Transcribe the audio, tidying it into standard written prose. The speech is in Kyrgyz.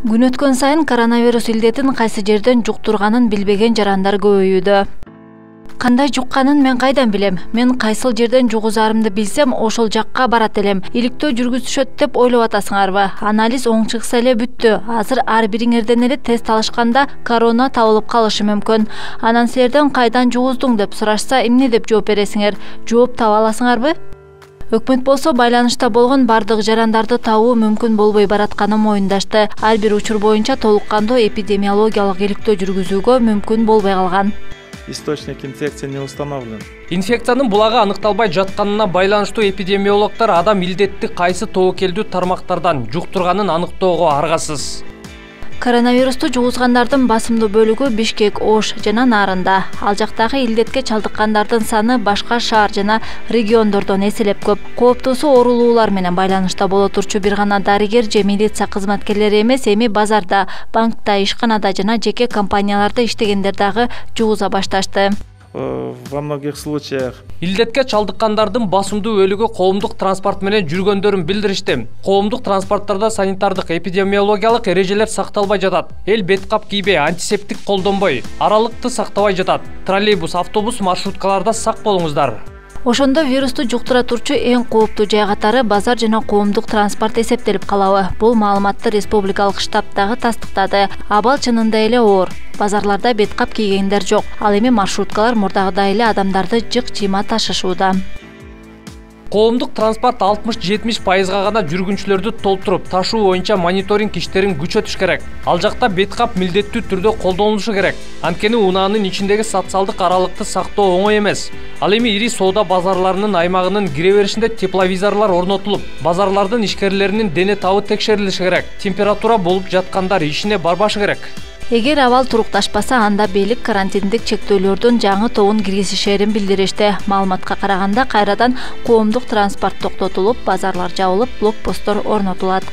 Күн өткөн сайын коронавирус илдетин кайсы жерден жуктурганын билбеген жарандар көбөйүүдө. Кандай жукканын мен кайдан билем? Мен кайсыл жерден жугузарымды билсем, ошол жакка барат элем. Иликтөө жүргүзүшөт деп ойлоп атасыңарбы? Анализ оң чыкса эле бүттү. Азыр ар бириңерден эле тест алышканда корона табылып калышы мүмкүн. Анан силерден кайдан жугуздуң деп сурашса, эмне деп жооп бересиңер? Жооп таба аласыңарбы? Өкмөт болсо байланышта болгон бардык жарандарды табуу мүмкүн болбой баратканын моюндашты. Ар бир учур боюнча толук кандуу эпидемиологиялык иликтөө жүргүзүүгө мүмкүн болбой калган. Источник инфекции не установлен. Инфекциянын булагы аныкталбай жатканына байланыштуу эпидемиологдор адам илдетти кайсы тобокелдүү тармактардан жуктурганын аныктоого аргасыз. Коронавирусту жугузгандардын басымдуу бөлүгү Бишкек, Ош жана Нарында. Ал жактагы илдетке чалдыккандардын саны башка шаар жана региондордон эселеп көп. Кооптуусу оорулуулар менен байланышта боло турчу бир гана дарыгер же милиция кызматкерлери эмес, эми базарда, банкта, ишканада жана жеке компанияларда иштегендер дагы жугуза башташты. Во многих случаях илдетке чалдыккандардын басымдуу бөлүгү коомдук транспорт менен жүргөндөрүн билдиришти. Коомдук транспорттарда санитардык эпидемиологиялык эрежелер сакталбай жатат. Эл бет кап кийбей, антисептик колдонбой, аралыкты сактабай жатат. Троллейбус, автобус, маршруткаларда сак болуңуздар. Ошондо вирусту жуктура турчу эң кооптуу жай катары базар жана коомдук транспорт эсептелип калабы? Бул маалыматты республикалык штаб дагы тастыктады. Абал чынында эле оор. Базарларда бет кап кийгендер жок. Ал эми маршруткалар мурдагыдай эле адамдарды жык-жыйма ташышууда. Коомдук транспорт 60-70% гана жүргүнчүлөрдү толтуруп, ташуу боюнча мониторинг иштерин күчөтүш керек. Ал жакта бет кап милдеттүү түрдө колдонулушу керек. Анткени унаанын ичиндеги социалдык аралыкты сактоо оңой эмес. Ал эми ири соода базарларынын аймагынын кире беришинде тепловизорлор орнотулуп, базарлардын ишкерлеринин дене табы текшерилиши керек. Температура болуп жаткандар ишине барбашы керек. Эгер абал турукташпаса, анда бийлик карантиндик чектөөлөрдүн жаңы тобун киргизишерин билдиришти. Маалыматка караганда, кайрадан коомдук транспорт токтотулуп, базарлар жабылып, блокпосттор орнотулат.